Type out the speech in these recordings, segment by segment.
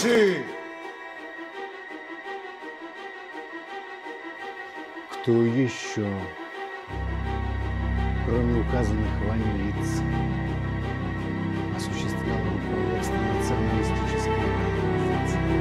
Товарищи! Кто еще, кроме указанных вами лиц, осуществлял руководство националистической организацией?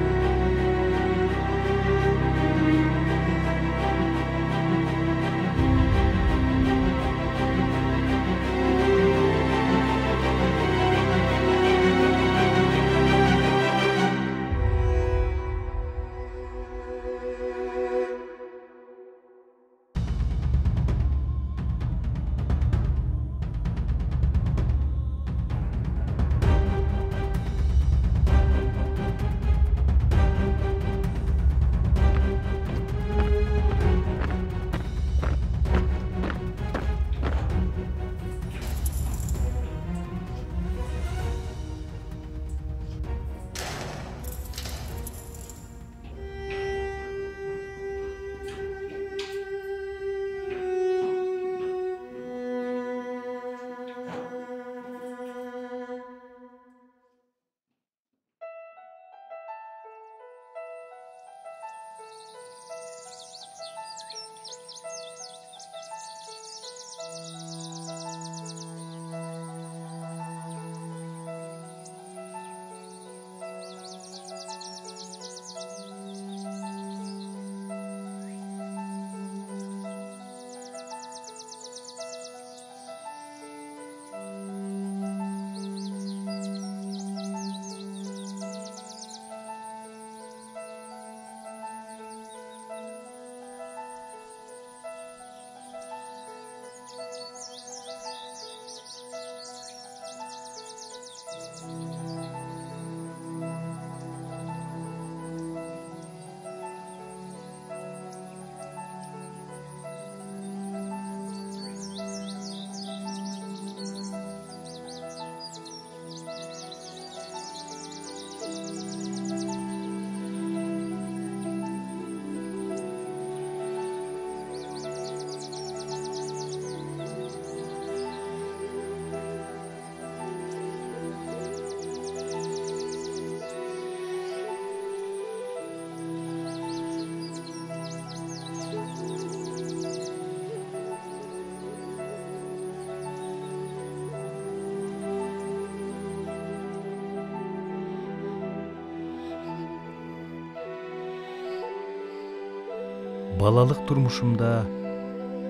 Балалык турмушумда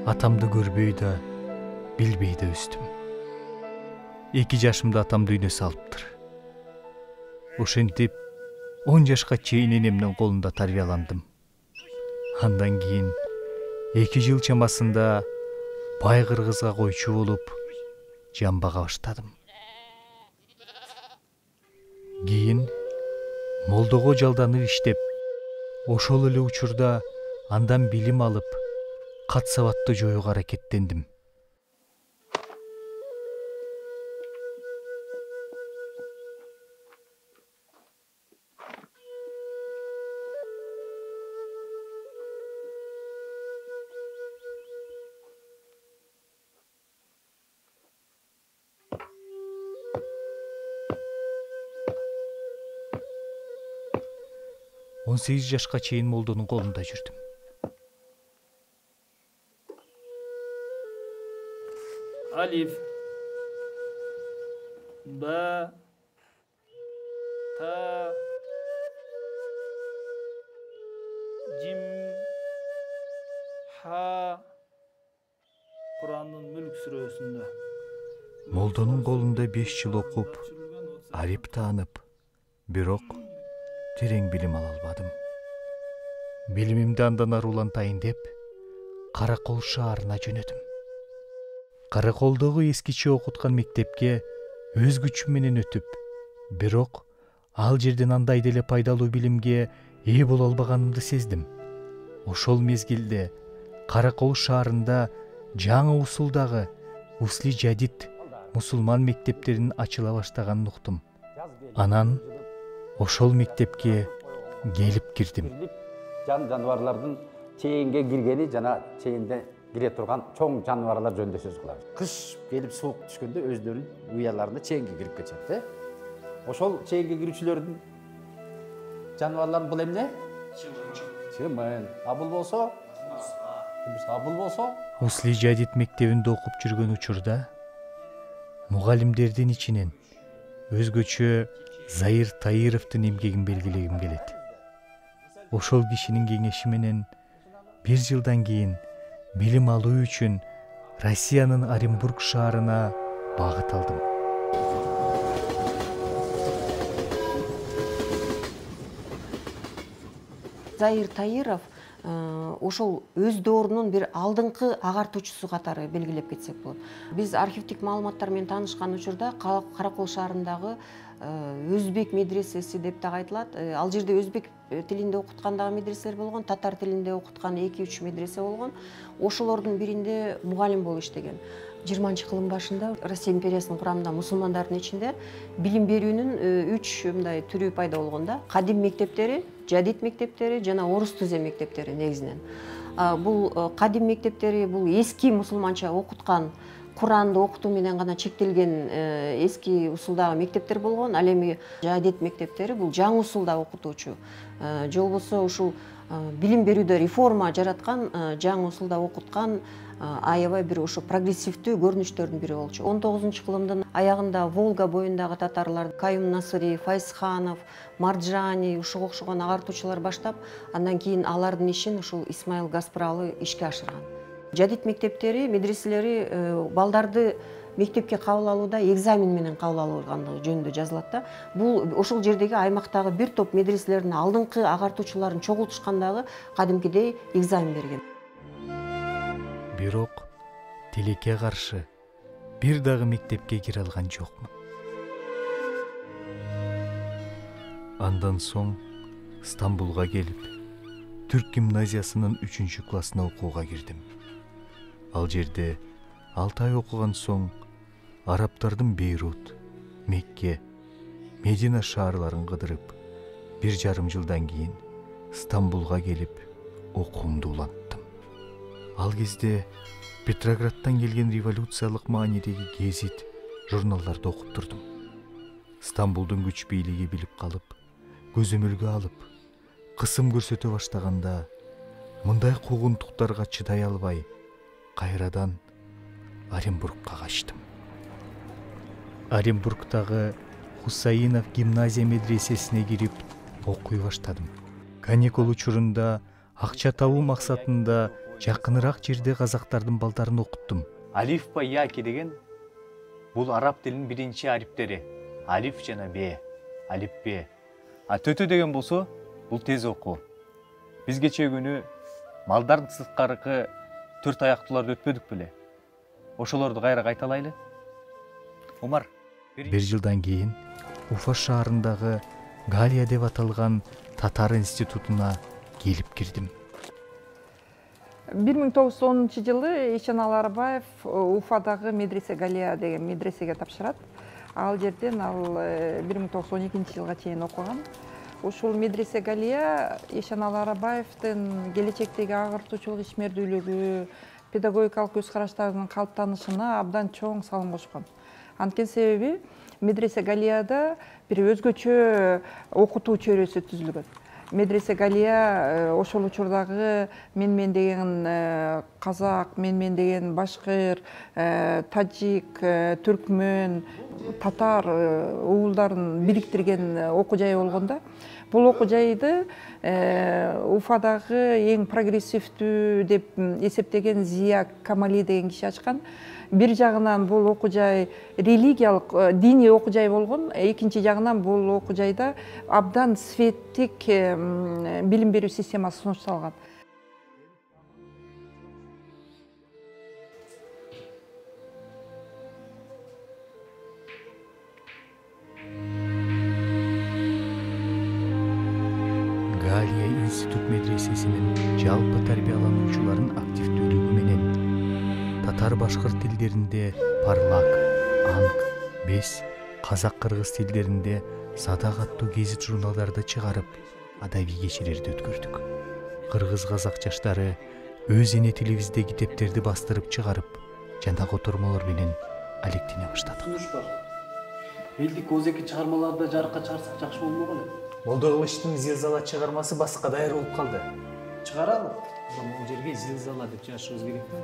атамды көрбөй да, билбей да өстүм. 2 жашымда атам дүйнө салыптыр. Ошентип 10 жашка чейин энемдин колунда тарбияландым. Андан кийин 2 жыл чамасында бай кыргызга койчу болуп, жан бага баштадым. Кийин молдого жалданып иштеп, ошол эле учурда андан билим алып, кат сабатты жоюуга аракеттендим. Он 8 жашка чейин молдонун колунда жүрдүм. Алиф, Ба, Та, Жим, Ха. Курандын Мүлк сүрөсүндө. Молдонун колунда 5 жыл окуп, ариф таанып, бирок терең билим ала албадым. Билимимди андан ары улантайын деп, Каракол шаарына жөнөдүм. Караколдогу эскиче окуткан мектепке өз күчүм менен өтүп, бирок ал жерден андай деле пайдалуу билимге ээ боло албаганымды сездим. Ошол мезгилде Каракол шаарында жаңы усулдагы Усли Жадид мусулман мектептеринин ачыла баштаганын уктум. Анан ошол мектепке келип кирдим. Жаныбарлардын чейинге киргени жана чейинде кире турган чоң жаныбарлар жөнүндө сөз кылабыз. Кыш келип суук түшкөндө өздөрүнүн уяларына чейинге кирип кетет. Ошол чейинге кирүүчүлөрдүн жаныбарлардын бул эмне? Чымын. А бул болсо? А бул болсо? Усли жадид мектебинде окуп жүргөн учурда мугалимдердин ичинен өзгөчө Заир Таировдун эмгегин белгилегим келет. Ошол кишинин кеңеши менен 1 жылдан кийин билим алуу үчүн Россиянын Оренбург шаарына багыт алдым. Заир Таиров ошол өз доорунун бир алдыңкы агартуучусу катары белгилеп кетсек болот. Биз архивдик маалыматтар менен таанышкан учурда Каракол шаарындагы өзбек медресеси деп дагы айтылат. Ал жерде өзбек тилинде окуткан дагы медреселер болгон, татар тилинде окуткан 2-3 медресе болгон. Ошолордун биринде мугалим болуп иштеген. 20-кылым башында Россия империясынын курамында мусулмандардын ичинде билим берүүнүн 3 мындай түрү пайда болгон да. Кадим мектептери, жадид мектептери жана орус түзем мектептери негизинен. Бул кадим мектептери бул эски мусулманча окуткан, Куранды окутуу менен гана чектелген эски усулдагы мектептер болгон. Ал эми жадид мектептери бул жаңы усулда окутуучу же болбосо ушул билим берүүдө реформа жараткан, жаңы усулда окуткан аябай бир ошо прогрессивдүү көрүнүштөрдүн бири болчу. 19-кылымдын аягында Волга боюндагы татарлар Каюм Насыри, Файзханов, Марджани ушуга окшогон агартуучулар баштап, андан кийин алардын ишин ушул Исмаил Гаспралы ишке ашырган. Жадид мектептери, медреселери балдарды мектепке кабыл алууда экзамен менен кабыл алгандыгы жөнүндө жазылат да. Бул ошол жердеги аймактагы бир топ медреселердин алдыңкы агартуучуларын чогултушкандагы кадимкидей экзамен берген. Бирок тилекке каршы бир дагы мектепке кире алган жокмун. Андан соң Стамбулга келип, Түрк гимназиясынын 3-классына окууга кирдим. Ал жерде 6 ай окуган соң арабтардын Бейрут, Мекке, Медина шаарларын кыдырып, 1,5 жылдан кийин Стамбулга келип окуумду уланттым. Ал кезде Петроградтан келген революциялык маанидеги гезит, журналдарды окуп турдум. Стамбулдун күч бийлиги билип калып, көзөмөлгө алып, кысым көрсөтө баштаганда, мындай куугунтуктарга чыдай албай, кайрадан Оренбургка качтым. Оренбургтагы Хусаинов гимназия медресесине кирип окуй баштадым. Каникул учурунда акча табуу максатында жакыныраак жерде казактардын балдарын окуттум. Алиф ба яки деген бул араб тилинин биринчи ариптери. Алиф жана б, алиф б. Төтө деген болсо бул тез окуу. Биз кечээ күнү малдардын сырткаркы 4 аяктууларды өтпөдүк беле? Ошолорду кайра кайталайлы. Умар, 1 жылдан кийин Уфа шаарындагы Галия деп аталган татар институтуна келип кирдим. 1910-жылы Ишенал Арбаев Уфадагы медресе Галия деген медресеге тапшырат. Ал жерден ал 1912-жылга чейин окуган. Ушул медресе Галия Ишенал Арбаевдин келечектеги агартуучулук ишмердүүлүгү, педагогикалык көз караштарынын калыптанышына абдан чоң салым кошкон. Анткени себеби медресе Галияда бир өзгөчө окутуу чөйрөсү түзүлгөн. Медресе Галия ошол учурдагы мен деген казак, мен деген башкыр, тажик, түркмөн, татар уулдарын бириктирген окуу жай болгон да. Бул окуу жайды Уфадагы эң прогрессивдүү деп эсептеген Зия Камали деген киши ачкан. Бир жагынан бул окуу жай религиялык, диний окуу жай болгон, экинчи жагынан бул окуу жайда абдан светтик билим берүү системасы сунушталган. Галия институт медресесинин жалпы тарбиялануучуларынын активдүүлүгү менен татар башкыр тилдеринде Парлак, Анг, Бес, казак-кыргыз тилдеринде Садак аттуу гезит журналдарды чыгарып, адабий кечелерди өткөрдүк. Кыргыз-казак жаштары өз эне тилибизде китептерди бастырып чыгарып, жана котормолор менен алектене баштадык. Элдик озеки чыгармаларды жарыкка чыгарсак жакшы болмок эле. Молдокылычтын зилзала чыгармасы баска даяр болуп калды. Чыгаралы. Бул жерге зилзала деп жазышыбыз керекпи?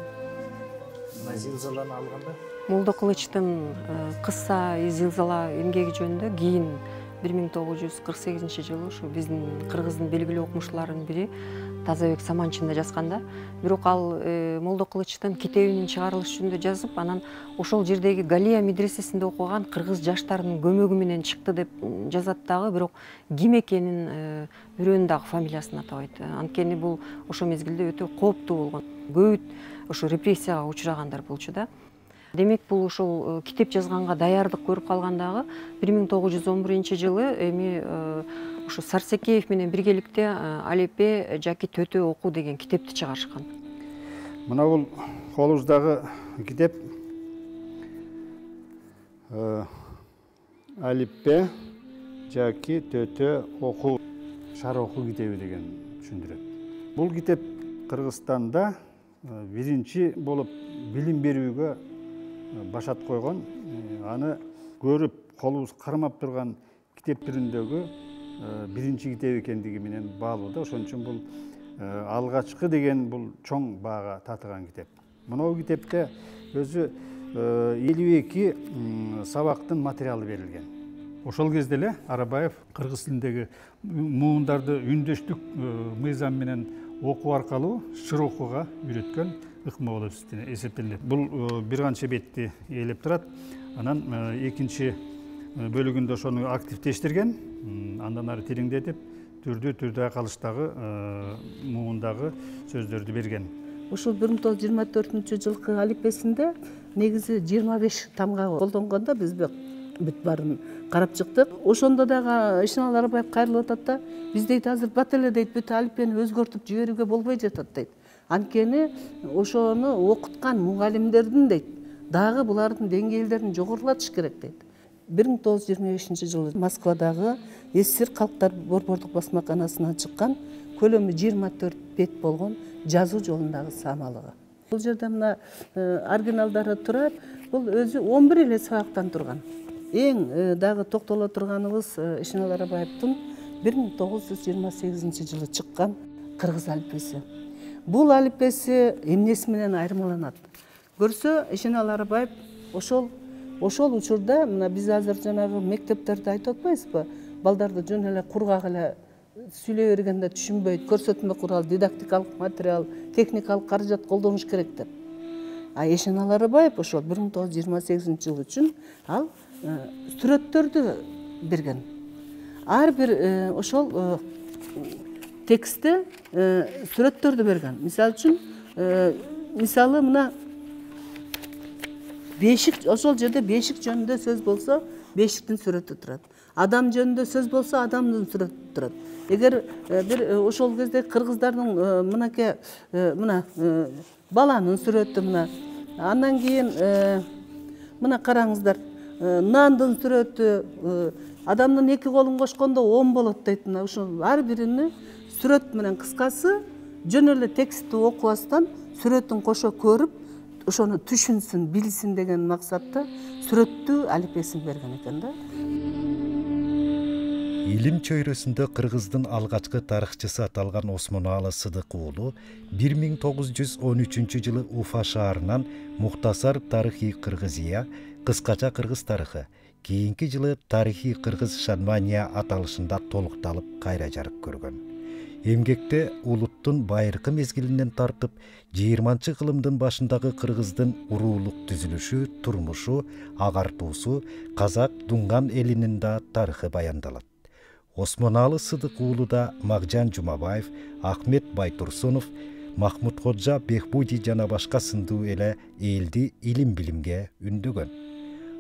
Мына зилзаланы алганда Молдокылычтын кыssa зилзала эмгеги жөнүндө кийин 1948 жылы ушу биздин кыргыздын белгилүү окумуштууларынын бири Тазабек Саманчин да жазган да. Бирок ал Молдокылычтын китебинин чыгарылышы жөнүндө жазып, анан ошол жердеги Галия медресесинде окуган кыргыз жаштарынын көмөгү менен чыкты деп жазат дагы, бирок ким экенин бирөөнүн дагы фамилиясын атабайт. Анткени бул ошол мезгилде өтө кооптуу болгон. Көп ошо репрессияга учурагандар болчу да. Демек бул ошол китеп жазганга даярдык көрүп калгандагы 1911 жылы эми ошо Сарсекеев менен биргеликте Алипе жаки Төтө окуу деген китепти чыгарышкан. Мына бул колубуздагы китеп Алипе жаки Төтө окуу шар окуу китеби деген түшүндүрөт. Бул китеп Кыргызстанда биринчи болуп билим берүүгө башат койгон, аны көрүп колубуз кармап турган китеп түрүндөгү биринчи китеп экендиги менен баалууда. Ошон үчүн бул алгачкы деген бул чоң баага татыган китеп. Мынау китепте өзү 52 сабактын материалы берилген. Ошол кезде эле Арабаев кыргыз тилиндеги муундарды үндөштүк мыйзам менен окуу аркылуу широкуга үйрөткөн ыкма болуп эсептелет. Бул бир канча бетти ээлеп турат. Анан экинчи бөлүгүндө ошону активдештирген, андан ары тереңдетип, түрдүү калыштагы муундагы сөздөрдү берген. Ушул 1924 жылкы алипесинде негизи 25 тамга колдонгондо биз бүт баарын карап чыктык. Ошондо дагы Ишеналы Арабаев кайрылып атат да, биз дейт азыр бат эле дейт бүт алипени өзгөртүп жиберүүгө болбой жатат дейт. Анткени ошону окуткан мугалимдердин дейт дагы булардын деңгээлдерин жогорулатыш керек дейт. 1925 жылы Москвадагы СССР Калктар борбордук басмаканасынан чыккан көлөмү 24 бет болгон жазуу жолундагы самалыгы. Бул жерде мына оригиналдары турат. Бул өзү 11 эле сабактан турган. Эң дагы токтоло турганыбыз Ишеналы Арабаевдин 1928 жылы чыккан кыргыз алипеси. Бул алипеси эмнеси менен айырмаланат? Көрсө, Ишеналы Арабаев ошол учурда мына биз азыр жанагы мектептерде айтып атпайбызбы? Балдарды жөн эле кургак эле сүйлөй бергенде түшүнбөйт, көрсөтмө курал, дидактикалык материал, техникалык каражат колдонуш керек деп. А Ишеналы Арабаев ошол 1928 жыл үчүн ал сүрөттөрдү берген. Ар бир ошол текстте сүрөттөрдү берген. Мисалы үчүн, мисалы мына бешик, ошол жерде бешик жөнүндө сөз болсо, бешиктин сүрөтү турат. Адам жөнүндө сөз болсо, адамдын сүрөтү турат. Эгер бир ошол кезде кыргыздардын мынакей мына баланын сүрөтү мына. Андан кийин мына караңыздар, нандын сүрөтү, адамдын эки колун кошкондо 10 болот дейт. Мына ошол ар бирини сүрөт менен, кыскасы жөн эле текстти окубастан сүрөтүн кошо көрүп, ошону түшүнсүн, билсин деген максатта сүрөттүү алипесин берген экен да. Илим чөйрөсүндө кыргыздын алгачкы тарыхчысы аталган Осмоналы Сыдык уулу 1913 жылы Уфа шаарынан Мухтасар тарыхи Кыргызия, кыскача кыргыз тарыхы, кийинки жылы тарыхи кыргыз Шанмания аталышында толукталып кайра жарык көргөн. Эмгекте улуттун байыркы мезгилинен тартып 20-кылымдын башындагы кыргыздын уруулук түзүлүшү, турмушу, агартуусу, казак дунган элинин да тарыхы баяндалат. Осмоналы Сыдык уулуда Макжан Жумабаев, Ахмет Байтурсунов, Махмуд Ходжа Бехбуди жана башка сындуу эле элди илим-билимге үндөгөн.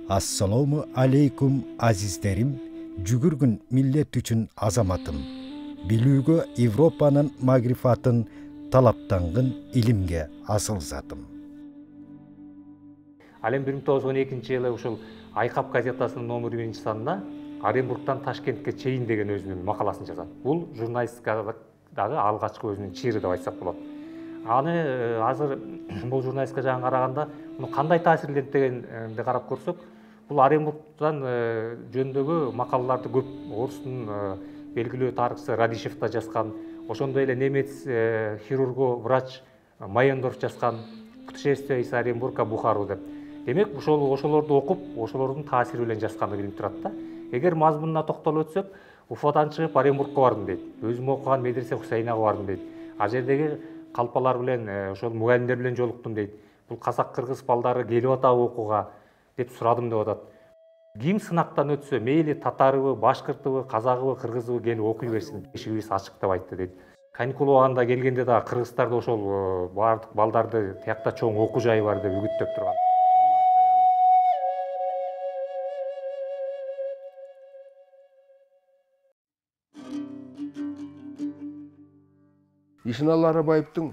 Ассалому алейкум азиздерим, жүгүргүн миллет үчүн азаматым. Билүүгө Европанын магрифатын талаптангын илимге асыл затым. Ал эми 1912 жылы ушул Айкап газетасынын номер 1 санына Оренбургтан Ташкентке чейин деген өзүнүн макаласын жазат. Бул журналистикадагы алгачкы өзүнүн чыры деп айтсак болот. Аны азыр бул журналистика жагын караганда муну кандай таасирлендиргенди карап көрсөк, бул Оренбургтан жөнүндөгү макалаларды көп орустун белгилүү тарыхчы Радишев да жазган, ошондой эле немец хирургу врач Майендорф жазган «Путешествие из Оренбурга в Бухару» деп. Демек ошолорду окуп, ошолордун таасири менен жазганды билип турат да. Эгер мазмунуна токтолуп өтсөк, Уфадан чыгып Оренбургка бардым дейт. Өзүм окуган медресе Хусейнага бардым дейт. Ал жердеги калпалар менен, ошол мугалимдер менен жолуктум дейт. Бул казак-кыргыз балдары келип атабы окууга деп сурадым деп атат. Ким сынактан өтсө, мейли татарыбы, башкыртыбы, казагыбы, кыргызыбы келип окуй берсин. Эшигибиз ачык деп айтты дейт. Каникул убагында келгенде да кыргыздарда ошол баардык балдарды тиякта чоң окуу жайы бар деп үгүттөп турган. Ишеналы Арабаевдин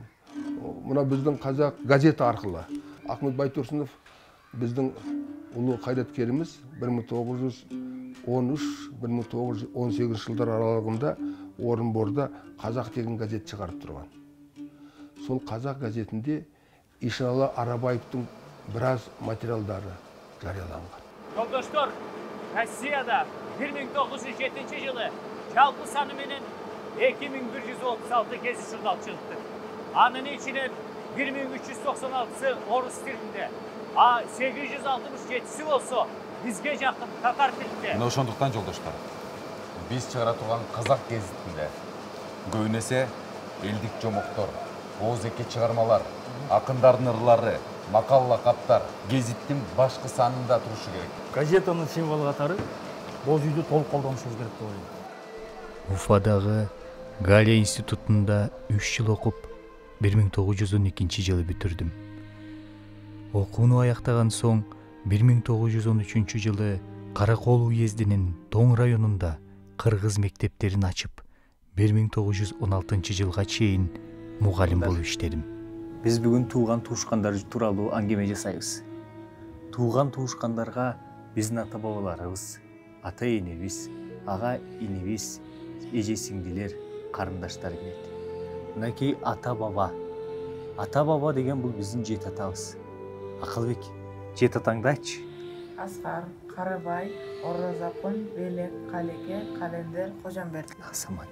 мына биздин казак газета аркылуу Ахмет Байтурсунов биздин улуу кайраткерimiz 1913-1918 жылдар аралыгында Орынборда Казак деген газет чыгарып турган. Сол Казак газетинде Ишеналы Арабаевдин бир аз материалдары жарыяланган. Жолдоштор, Россияда 1907 жылы жалпы саны менен 2136 кезиш журнал чыгыпты. Анын ичинен 1396-сы орус тилинде, а 867-си болсо бизге жакын татар тилинде. Мына ошондуктан жолдоштор, биз чыгара турган Казак гезитинде көбүнесе элдик жомоктор, оозеке чыгармалар, акындардын ырлары, макал лакаптар гезиттин башкы санында турушу керек. Газетанын символу катары боз үйдү толук колдонушубуз керек деп ойлойм. Уфадагы Галия институтунда 3 жыл окуп, 1912 жылы бүтүрдүм. Окууну аяктаган соң 1913 жылы Каракол уездинин Тоң районунда кыргыз мектептерин ачып, 1916 жылга чейин мугалим болуп иштедим. Биз бүгүн тууган туушкандар тууралуу аңгеме жасайбыз. Тууган туушкандарга биздин ата бабаларыбыз, ата энебиз, ага инибиз, эже сиңдилер, карындаштар кирет. Мынакей ата баба. Ата баба деген бул биздин жет атабыз. Акылбек, жет атаңды айтчы. Аскар, Карыбай, Орозапын, Белек, Калеке, Календер, Кожомберди. Самат.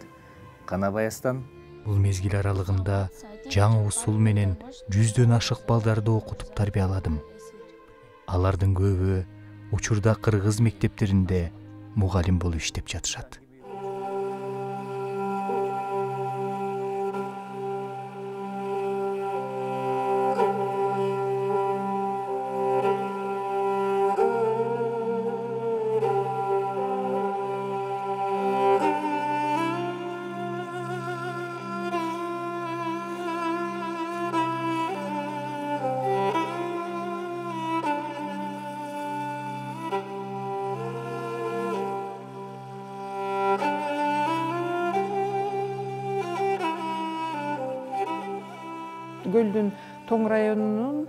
Канабаястан. Бул мезгил аралыгында жаңы усул менен 100дөн ашык балдарды окутуп тарбияладым. Алардын көбү учурда кыргыз мектептеринде мугалим болуп иштеп жатышат. Көлдүн Тоң районунун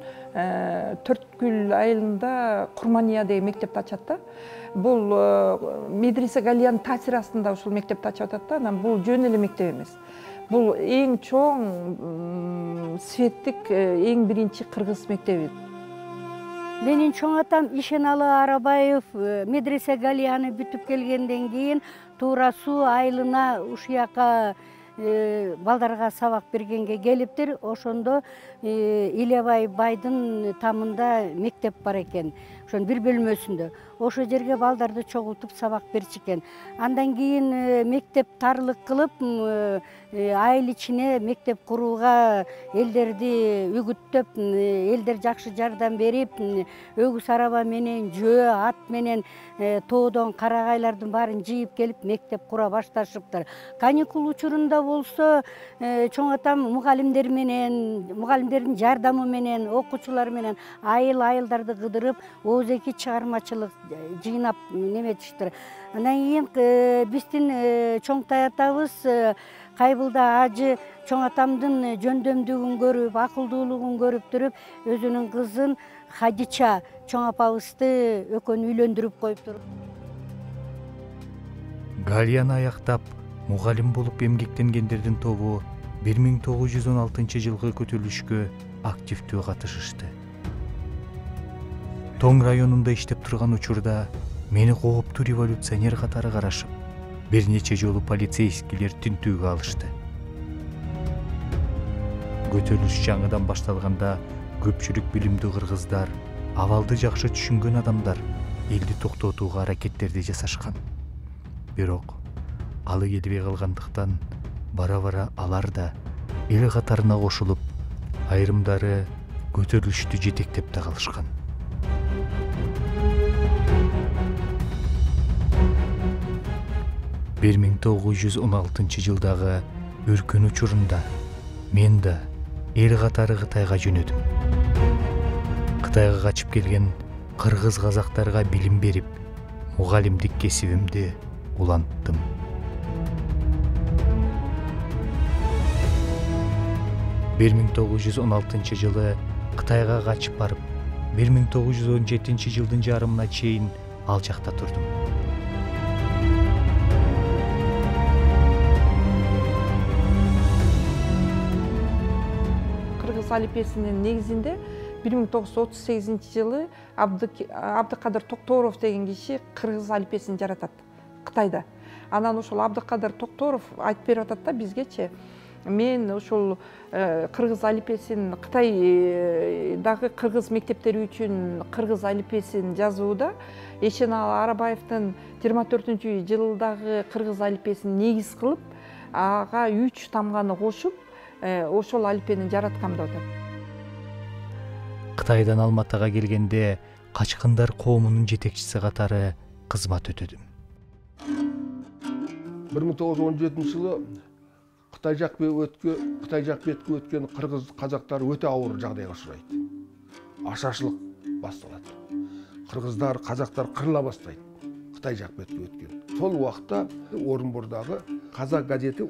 Төрткүл айылында Курмания деген мектепти ачат да. Бул медресе Галиянын таасири астында ушул мектепти ачып атат да. Анан бул жөн эле мектеп эмес. Бул эң чоң светтик эң биринчи кыргыз мектеби. Менин чоң атам Ишеналы Арабаев медресе Галияны бүтүп келгенден кийин туура суу айылына ушуяка балдарга сабак бергенге келиптир. Ошондо Илебай байдын тамында мектеп бар экен. Ошонун бир бөлмөсүндө. Ошол жерге балдарды чогултуп сабак берчү экен. Андан кийин мектеп тарлык кылып, айыл ичине мектеп курууга элдерди үгүттөп, элдер жакшы жардам берип, өгүз араба менен, жөө ат менен тоодон карагайлардын баарын жыйып келип мектеп кура башташыптыр. Каникул учурунда болсо, чоң атам мугалимдер менен, мугалимдердин жардамы менен, окуучулар менен айылдарды кыдырып, оозеки чыгармачылык жыйнап неметиштир. Андан кийин биздин чоңтай атабыз Кайбылда ажы чоң атамдын жөндөмдүгүн көрүп, акылдуулугун көрүп туруп, өзүнүн кызын Хадича чоң апабызды экөөнү үйлөндүрүп коюптур. Галияны аяктап, мугалим болуп эмгектенгендердин тобу 1916 жылкы көтөрүлүшкө активдүү катышышты. Тоң районунда иштеп турган учурда мени кооптуу революционер катары карашып, бир нече жолу полицейскийлер тинтүүгө алышты. Көтөрүлүш жаңыдан башталганда көпчүлүк билимдүү кыргыздар, абалды жакшы түшүнгөн адамдар элди токтотууга аракеттерди жасашкан. Бирок алы келбей калгандыктан бара-бара алар да эл катарына кошулуп, айрымдары көтөрүлүштү жетектеп да калышкан. Бир 1916 жылдагы өркөн учурунда мен да эл катары Кытайга жөнөдүм. Кытайга качып келген кыргыз казактарга билим берип, мугалимдик кесибимди уланттым. Бир 1916 жылы Кытайга качып барып, 1917 жылдын жарымына чейин ал жакта турдум. Кыргыз алипесинин негизинде 1938 жылы Абдыкадыр Токторов деген киши кыргыз алипесин жаратат Кытайда. Анан ошол Абдыкадыр Токторов айтып берип атат да бизгечи. Мен ошол кыргыз алипесин Кытайдагы кыргыз мектептери үчүн кыргыз алипесин жазууда Эшеналы Арабаевдин 24-жылдагы кыргыз алипесин негиз кылып, ага 3 тамганы кошуп, ошол алипени жараткам деп атат. Кытайдан Алматыга келгенде качкындар коомунун жетекчиси катары кызмат өтөдүм. 1917 жылы Кытай жак бетке өткөн кыргыз казактар өтө ауыр жагдайга учурайт. Ашашлык башталат. Кыргыздар, казактар кырыла баштайт. Кытай жак бетке өткөн. Сол убакта Орунбордагы Казак газети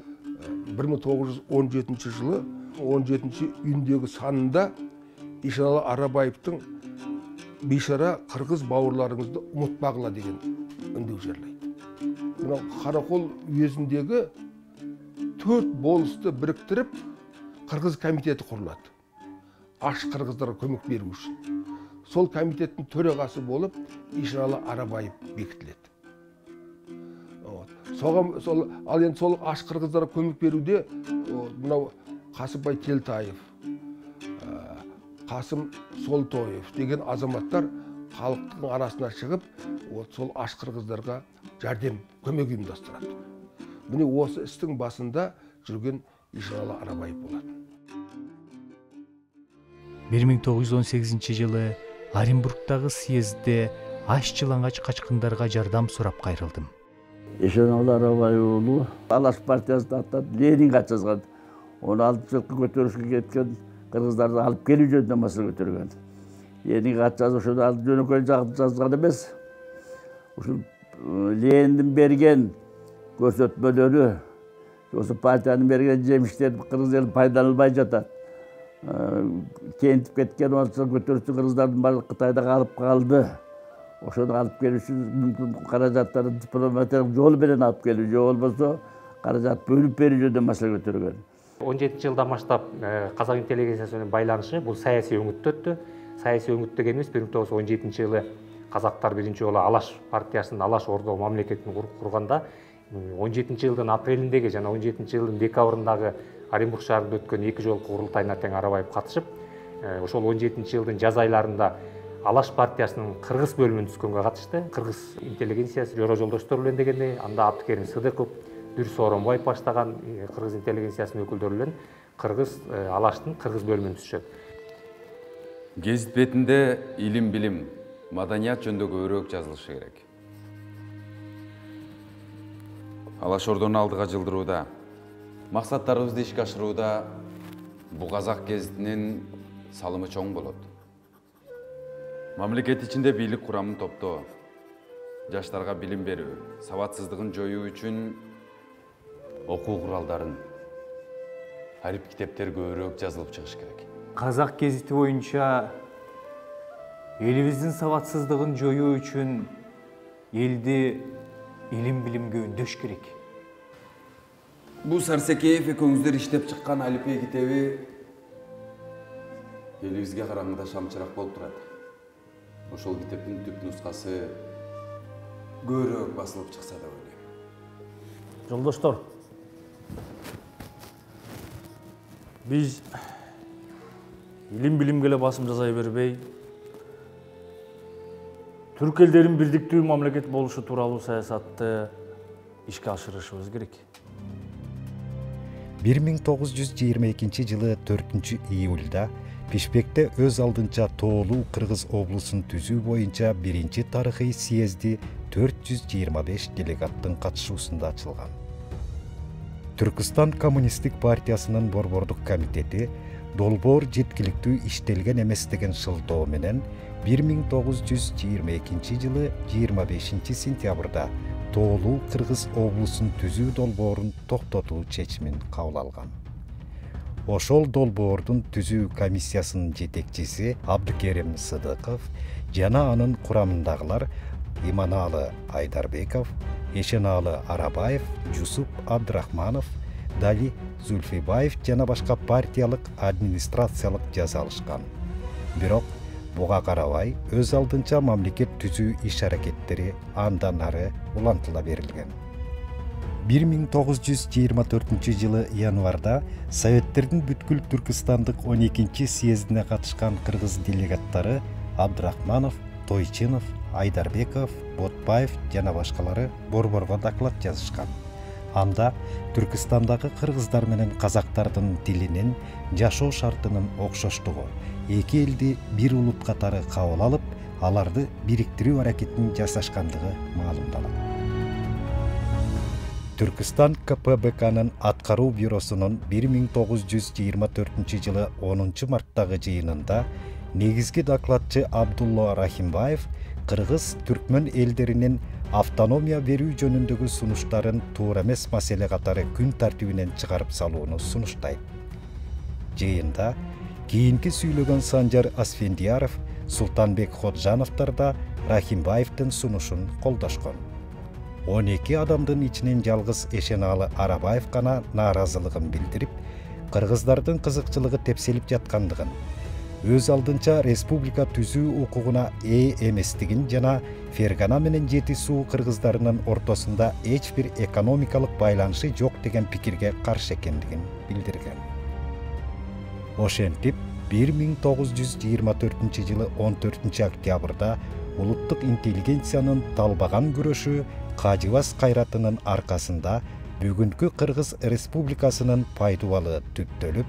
1917 жылы 17-үндөгү санында Эшеналы Арабаевдин бейшара кыргыз бауырларыңызды унутпагыла деген үндү жерлейт. Мына Каракол уезиндеги 4 болусту бириктирип кыргыз комитети курулат. Аш кыргыздарга көмөк берүү үчүн. Сол комитеттин төрагасы болуп Эшеналы Арабаев бекитилет. Ал эми сол аш кыргыздарга көмөк берүүдө мына Касымбай Телтаев, Касым Солтоев деген азаматтар халыктын арасына чыгып, сол аш кыргыздарга жардам көмөк уюмдастырат. Міне осы істің басында жүрген Эшеналы Арабаев болот. 1918 жылы Оренбургдагы съездде аш жылаңач качкындарга жардам сурап кайрылдым. Эшеналы Арабаев уулу Алаш партиясына аттап Ленинге ат жазган. Оны алып жылкы көтөрүшкө кеткен кыргыздарды алып келүү жөнүндө маселе көтөргөн. Ленинге ат жазып ошону алып жөнөкөй жазган эмес. Ушул Лениндин берген көрсөтмөлөрү, осы партиянын берген жемиштери кыргыз эл пайдаланбай жатат. Кентип кеткен көтөрүүчү кыргыздардын баары Кытайда алып калды. Ошону алып келүү үчүн мүмкүн каражаттарды дипломатиялык жол менен алып келүү, же болбосо каражат бөлүп берүү жөнүндө маселе көтөргөн. 17 жылдан баштап казак интеллигенциясы менен байланышы бул саясий өңүттө өттү. Саясий өңүт дегенибиз 1917 жылы казактар биринчи жолу Алаш партиясын, Алаш Ордо мамлекетин курганда 17 жылдын апрелиндеги жана 17 жылдын декабрындагы Оренбург шаарында өткөн 2 жолку курултайына тең Арабаев катышып, ошол 17 жылдын жаз айларында Алаш партиясынын кыргыз бөлүмүнө түзгөнгө катышты. Кыргыз интеллигенциясы Жора Жолдоштор менен дегенде, анда Абдыкерим Сыдыков, Дүрс Оронбаев баштаган кыргыз интеллигенциясынын өкүлдөрү менен кыргыз Алаштын кыргыз бөлүмүн түзүшөт. Гезит бетинде илим, билим, маданият жөнүндө көбүрөөк жазылышы керек. Алаш Ордону алдыга жылдырууда, максаттарыбызды ишке ашырууда бул казак гезитинин салымы чоң болот. Мамлекет ичинде бийлик курамын топтоо, жаштарга билим берүү, сабатсыздыгын жоюу үчүн окуу куралдарын, арип китептер көбүрөөк жазылып чыгыш керек. Казак гезити боюнча элибиздин сабатсыздыгын жоюу үчүн элди илим билимге үндөш керек. Бул Сарсекеев экөөңүздөр иштеп чыккан алипе китеби элибизге караңгыда шамчырак болуп турат. Ошол китептин түп нускасы көбүрөөк басылып чыкса деп ойлойм. Жолдоштор, биз илим билимге эле басым жасай бербей, түрк элдерин бирдиктүү мамлекет болушу тууралуу саясатты ишке ашырышыбыз керек. 1922 жылы 4-июлда Бишкекте өз алдынча Тоолуу Кыргыз облусун түзүү боюнча биринчи тарыхый съезди 425 делегаттын катышуусунда ачылган. Түркистан Коммунисттик партиясынын борбордук комитети долбоор жеткиликтүү иштелген эмес деген шылтоо менен 1922 жылы 25 сентябрда Тоолуу Кыргыз облусун түзүү долбоорун токтотуу чечимин кабыл алган. Ошол долбоордун түзүү комиссиясынын жетекчиси Абдыкерим Сыдыков жана анын курамындагылар Иманалы Айдарбеков, Эшеналы Арабаев, Жусуп Абдрахманов, Дали Зульфибаев жана башка партиялык администрациялык жаза алышкан. Бирок буга карабай өз алдынча мамлекет түзүү иш-аракеттери андан ары улантыла берилген. 1924 жылы январда Советтердин бүткүл Түркистандык 12 съездине катышкан кыргыз делегаттары Абдрахманов, Тойчинов, Айдарбеков, Ботбаев жана башкалары борборго доклад жазышкан. Анда Түркистандагы кыргыздар менен казактардын тилинин, жашоо шартынын окшоштугу, эки элди бир улут катары кабыл алып, аларды бириктирүү аракетин жасашкандыгы маалымдалат. Түркистан КПБКнын аткаруу бюросунун 1924 жылы 10 марттагы жыйынында негизги докладчы Абдулла Рахимбаев кыргыз түркмөн элдеринин автономия берүү жөнүндөгү сунуштарын туура эмес маселе катары күн тартибинен чыгарып салууну сунуштайт. Жыйында кийинки сүйлөгөн Санжар Асфендияров, Султанбек Ходжановдор да Рахимбаевдин сунушун колдошкон. 12 адамдын ичинен жалгыз Эшеналы Арабаев гана нааразылыгын билдирип, кыргыздардын кызыкчылыгы тепселип жаткандыгын, өз алдынча республика түзүү укугуна ээ эместигин жана Фергана менен Жети суу кыргыздарынын ортосунда эч бир экономикалык байланышы жок деген пикирге каршы экендигин билдирген. Ошентип 1924 жылы 14 октябрда улуттук интеллигенциянын талбаган күрөшү Кажыбас кайратынын аркасында бүгүнкү Кыргыз Республикасынын пайдубалы түптөлүп,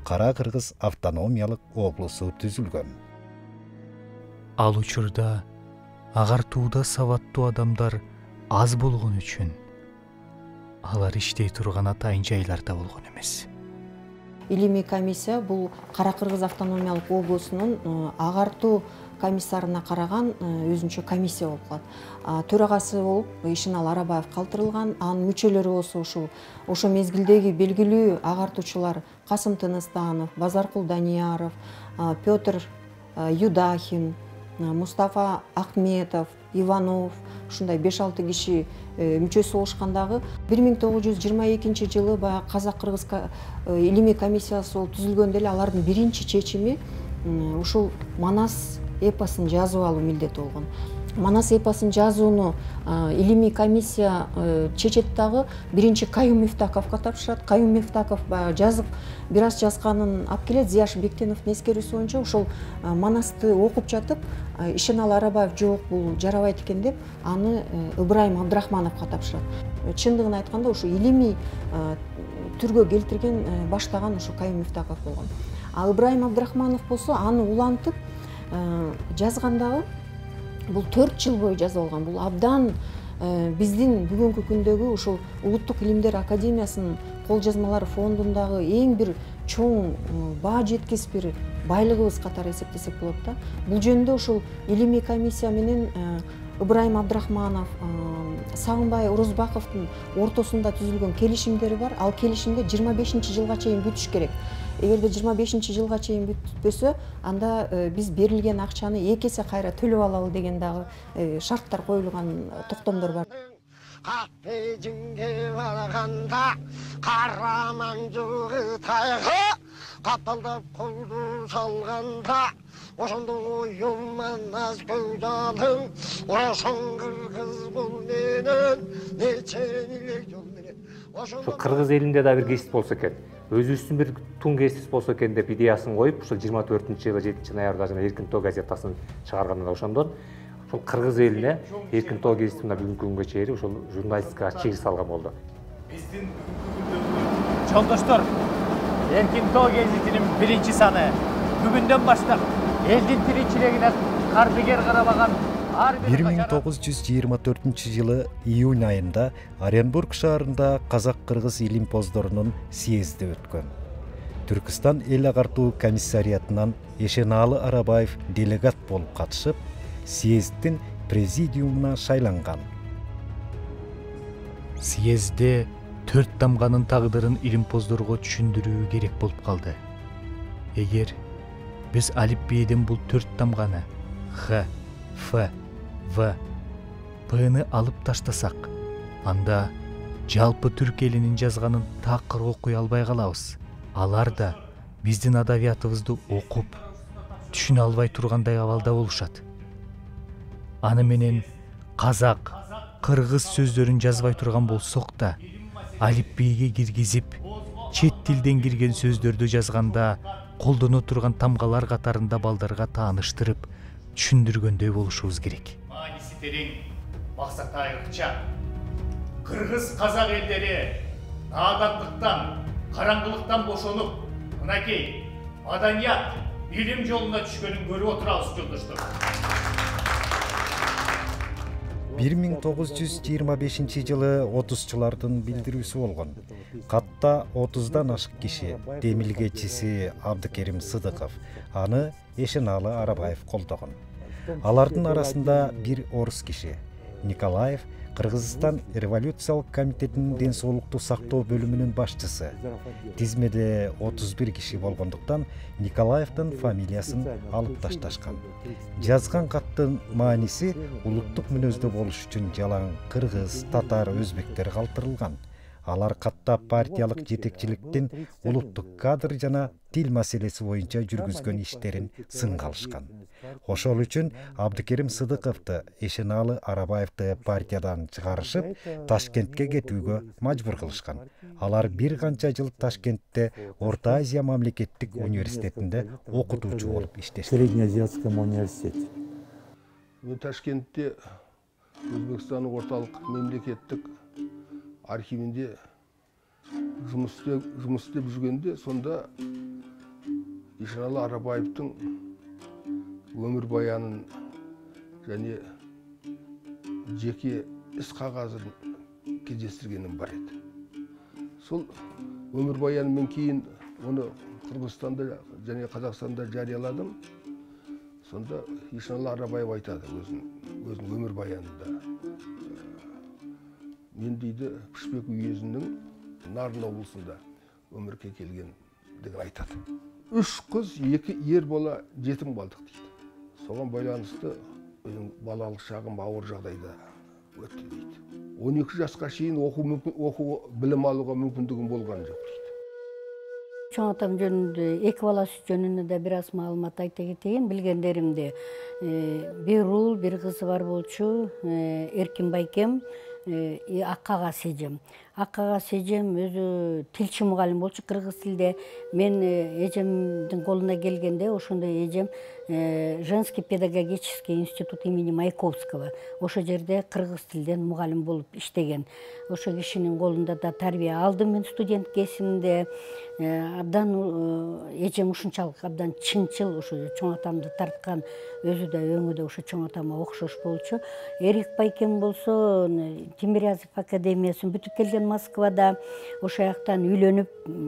Кара Кыргыз автономиялык облусу түзүлгөн. Ал учурда агартууда сабаттуу адамдар аз болгон үчүн алар иштей турган атайын жайларда болгон эмес. Илимий комиссия бул Кара Кыргыз автономиялык облусунун агартуу комиссарына караган өзүнчө комиссия болуп калат. Төрагасы болуп Ишеналы Арабаев калтырылган, анын мүчөлөрү болсо ошо мезгилдеги белгилүү агартуучулар Касым Тыныстанов, Базаркул Данияров, Петр Юдахин, Мустафа Ахметов, Иванов, ушундай 5-6 киши мүчөсү болушкандагы 1922 жылы баягы Казак-Кыргыз илимий комиссиясы болуп түзүлгөндө эле алардын биринчи чечими ушул Манас эпосун жазып алуу милдети болгон. Манас эпосун жазууну илимий комиссия чечет дагы биринчи Каюм Мифтаковго тапшырат. Каюм Мифтаков жазып бир аз жазганын алып келет. Зияш Бектеновдун эскерүүсү боюнча ошол Манасты окуп жатып Ишеналы Арабаев жок бул жарабайт экен деп аны Ыбрайым Абдрахмановго тапшырат. Чындыгын айтканда ушу илимий түргө келтирген баштаган ушу Каюм Мифтаков болгон. Ыбрайым Абдрахманов болсо аны улантып жазгандагы бул 4 жыл бою жазып алган. Бул абдан биздин бүгүнкү күндөгү ушул Улуттук илимдер академиясынын кол жазмалары фондундагы эң бир чоң баа жеткис бир байлыгыбыз катары эсептесек болот да. Бул жөнүндө ушул илимий комиссия менен Ыбрайым Абдрахманов, Сагынбай Орозбаковдун ортосунда түзүлгөн келишимдери бар. Ал келишимде 25 жылга чейин бүтүш керек. Эгерде 25 жылга чейин бүтпөсө, анда биз берилген акчаны 2 эсе кайра төлөп алалы деген дагы шарттар коюлган токтомдор бар. Капежинге барганда караман жугы тайга капалдап колду салганда ошондо оюлман наз көйдалың ошон кыргыз бул менен нече элек жол менен ушул кыргыз элинде да бир кесип болсо экен, өзүбүздүн бир тун кесип болсо экен деп идеясын коюп, ушул 24-жылы 7-ноябрда жана Эркин тоо газетасын чыгарганда ошондон ушул кыргыз элине Эркин тоо газетине бүгүнкү күнгө чейин ушул журналистикага чегиз салган болду. Биздин жолдоштор, Эркин тоо газетинин 1-саны бүгүндөн баштап элдин тиричилигине кардыгер карабаган 1924 июнь айында Оренбург шаарында казак-кыргыз илимпоздорунун съезди өткөн. Түркистан эл агартуу комиссариятынан Эшенаалы Арабаев делегат болуп катышып, съезддин президиумуна шайланган. Съездде 4 тамганын тагдырын илимпоздорго түшүндүрүү керек болуп калды. Эгер биз алипбийден бул 4 тамганы Х, Ф, В, П'ны алып таштасак, анда жалпы түрк элинин жазганын такыр окуй албай калабыз. Алар да биздин адабиятыбызды окуп, түшүнө албай тургандай абалда болушат. Аны менен казак, кыргыз сөздөрүн жазбай турган болсок да, алипбийге киргизип, чет тилден кирген сөздөрдү жазганда колдоно турган тамгалар катарында балдарга тааныштырып, түшүндүргөндөй болушубуз керек. Мааниси терең, максаты айрыкча. Кыргыз казак элдери наадандыктан, караңгылыктан бошонуп, мынакей маданият, билим жолуна түшкөнүн көрүп отурабыз, жолдоштор. 1925 жылы 30-чылардын билдирүүсү болгон. Катта 30дан ашык киши, демилгечиси Абдыкерим Сыдыков, аны Эшенаалы Арабаев колдогон. Алардын арасында бир орус киши, Николаев, Кыргызстан революциялык комитетинин ден соолукту сактоо бөлүмүнүн башчысы. Тизмеде 31 киши болгондуктан Николаевдин фамилиясын алып ташташкан. Жазган каттын мааниси улуттук мүнөздө болуш үчүн жалаң кыргыз, татар, өзбектер калтырылган. Алар катта партиялык жетекчиликтин улуттук кадр жана тил маселеси боюнча жүргүзгөн иштерин сынга алышкан. Ошол үчүн Абдыкерим Сыдыковду, Эшенаалы Арабаевди партиядан чыгарышып, Ташкентке кетүүгө мажбур кылышкан. Алар бир канча жыл Ташкентте Орто Азия мамлекеттик университетинде окутуучу болуп иштешкен. Среднеазиатском университете. Мен Ташкентте Өзбекстандын орталык мемлекеттик архивинде жұмыс істеп жүргенде, сонда Эшенаалы Арабаевтың өмір баянын және жеке іс қағазын кездестіргенім бар еді. Сол өмір баянын мен кейін оны Қырғызстанда және Қазақстанда жарияладым. Сонда Эшенаалы Арабаев айтады өзінің өмір баянында. Мен дейді Пішпек уезінің Нарын облысында өмірге келген деген айтады. 3 қыз, 2 ер бала жетім қалдық дейді. Соған байланысты балалық шағым ауыр жағдайда өтті дейді. 12 жасқа шейін оқу білім алуға мүмкіндігім болған жоқ дейді. Чоң атам жөнүндө, эки баласы жөнүндө да бир аз маалымат айта кетейин. Билгендеримде бир уул, бир кызы бар болчу, Эркин байкем, Аккагас эжем. Аккагас эжем өзү тилчи мугалим болчу кыргыз тилде. Мен эжемдин колуна келгенде ошондо эжем Женский педагогический институт имени Маяковского. Ошо жерде кыргыз тилден мугалим болуп иштеген. Ошо кишинин колунда да тарбия алдым мен студент кезимде. Абдан эжем ушунчалык абдан чынчыл, ошо чоң атамды тарткан, өзү да өңү да ошо чоң атама окшош болчу. Эрик байкем болсо Тимирязев академиясын бүтүп келген Москвада, ошо жактан үйлөнүп,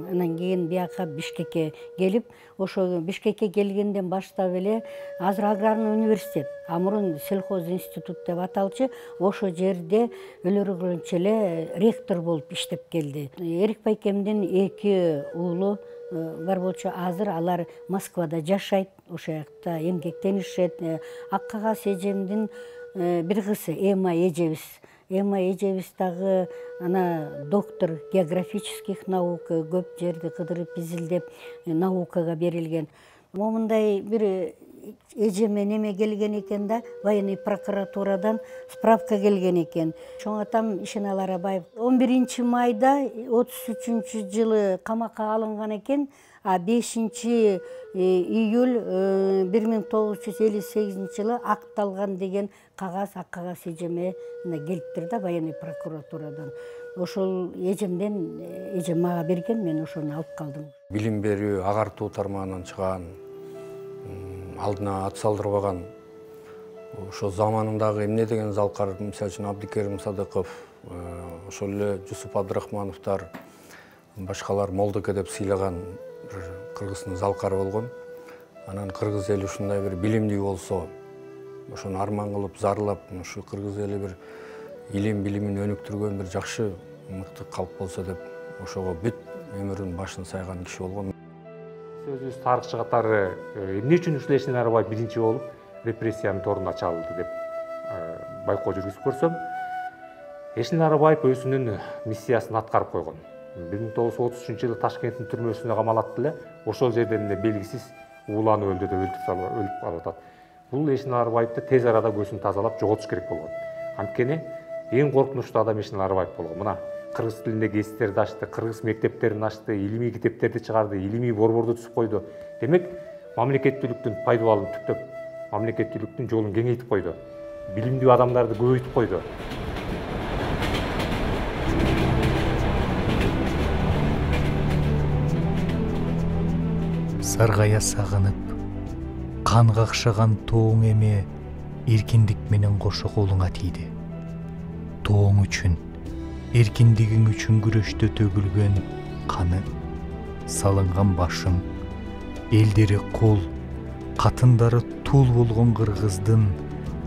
анан кийин бияка Бишкекке келип, ошо Бишкекке келгенден баштап эле азыр аграрный университет, а мурун сельхоз институт деп аталчу, ошо жерде өлөргөнчө эле ректор болуп иштеп келди. Эрик байкемдин 2 уулу бар болчу, азыр алар Москвада жашайт, ошо жакта эмгектенишет. Аккагас эжемдин бир кызы Эма эжебиз. Эма эжебиз дагы ана доктор географических наук, көп жерди кыдырып изилдеп наукага берилген. Момундай бир эжеме неме келген экен да, военный прокуратурадан справка келген экен. Чоң атам Ишенал Арабаев 11 майда 33-жылы камакка алынган экен, а 5 июль 1958-жылы акталган деген кагаз, ак кагаз эжеме келиптир да военный прокуратурадан. Ошол эжем мага берген, мен ошону алып калдым. Билим берүү, агартуу тармагынан чыган, алдына ат салдырбаган, ошо заманындагы эмне деген залкар, мисалы үчүн Абдикерим Садыков, ошол эле Жусуп Абдрахмановдор, башкалар Молдоке деп сыйлаган бир кыргыздын залкары болгон. Анан кыргыз эли ушундай бир билимдүү болсо, ошону арман кылып, зарлап, ушу кыргыз эли бир илим билимин өнүктүргөн бир жакшы мыкты калп болсо деп ошого бүт өмүрүн башын сайган киши болгон. Сөзүбүз тарыхчы катары эмне үчүн ушул Эшенал Арабаев биринчи болуп репрессиянын торунда чалды деп байкоо жүргүзүп көрсөм, Эшенал Арабаев өзүнүн миссиясын аткарып койгон. 1933-жылы Ташкенттин түрмөсүнө камалат эле, ошол жерден эле белгисиз ууланып өлдү деп өлтүрүп калып атат. Бул Эшенал Арабаевди тез арада көзүн тазалап жоготуш керек болгон. Анткени эң коркунучтуу адам Эшенал Арабаев болгон. Мына кыргыз тилинде гезиттерди ачты, кыргыз мектептерин ачты, илимий китептерди чыгарды, илимий борборду түзүп койду. Демек, мамлекеттүүлүктүн пайдубалын түптөп, мамлекеттүүлүктүн жолун кеңейтип койду. Билимдүү адамдарды көбөйтүп койду. Саргая сагынып, кан какшаган тооң эме эркиндик менен кошо колуңа тийди. Тооң үчүн, эркиндигиң үчүн күрөштө төгүлгөн каны, салынган башың, элдери кол, катындары тул болгон кыргыздын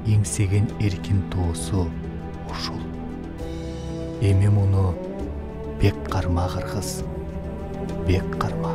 эңсеген эркин тоосу ушул. Эми муну бек карма кыргыз, бек карма.